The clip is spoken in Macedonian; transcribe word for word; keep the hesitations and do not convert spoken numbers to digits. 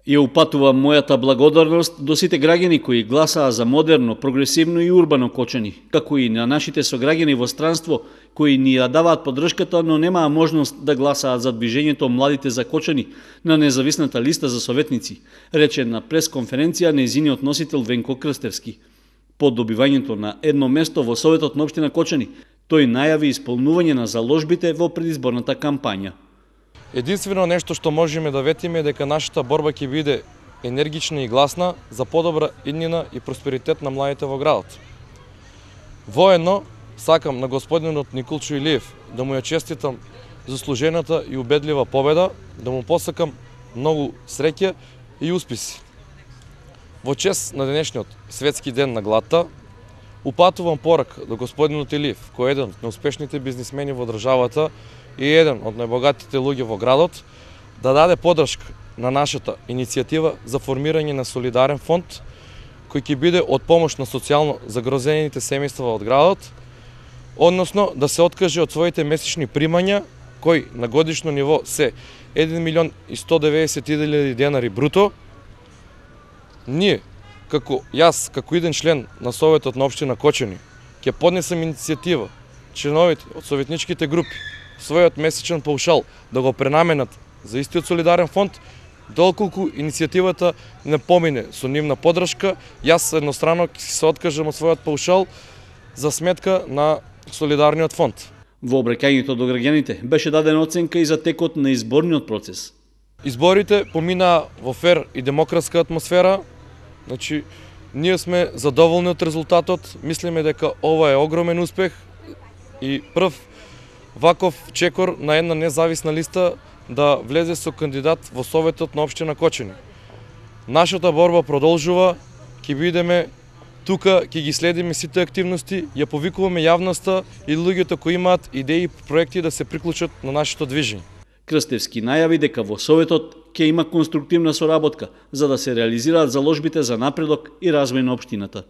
Ја упатува мојата благодарност до сите граѓани кои гласаа за модерно, прогресивно и урбано Кочани, како и на нашите сограѓани во странство кои ни ја даваат поддршката, но немаа можност да гласаат за движењето Младите за Кочани на независната листа за советници, рече на пресконференција нејзиниот носител Венко Крстевски. По добивањето на едно место во Советот на општина Кочани, тој најави исполнување на заложбите во предизборната кампања. Единствено нешто што можеме да ветиме е дека нашата борба ќе биде енергична и гласна за подобра иднина и просперитет на младите во градот. Воедно сакам на господинот Николчо Илиев да му ја честитам заслужената и убедлива победа, да му посакам многу среќа и успеси. Во чест на денешниот светски ден на гладта, упатувам порака до господинот Илиев, кој е еден од неуспешните бизнисмени во државата и еден од најбогатите луѓе во градот, да даде поддршка на нашата иницијатива за формирање на солидарен фонд кој ќе биде од помош на социјално загрозените семејства од градот, односно да се откаже од своите месечни примања кои на годишно ниво се еден милион и сто деветдесет илјади денари бруто. Ние, како јас, како еден член на Советот на општина Кочани, ќе поднесам иницијатива членовите од советничките групи својот месечен паушал да го пренаменат за истиот солидарен фонд, доколку иницијативата не помине со нивна поддршка, јас еднострано ќе се откажам од својот паушал за сметка на солидарниот фонд. Во обраќањето до граѓаните беше дадена оценка и за текот на изборниот процес. Изборите поминаа во фер и демократска атмосфера. Значи, ние сме задоволни од резултатот, мислиме дека ова е огромен успех и прв ваков чекор на една независна листа да влезе со кандидат во Советот на општина Кочани. Нашата борба продолжува, ќе бидеме тука, ќе ги следиме сите активности, ја повикуваме јавноста и луѓето кои имаат идеи и проекти да се приклучат на нашето движење. Крстевски најави дека во Советот ќе има конструктивна соработка за да се реализираат заложбите за напредок и развој на општината.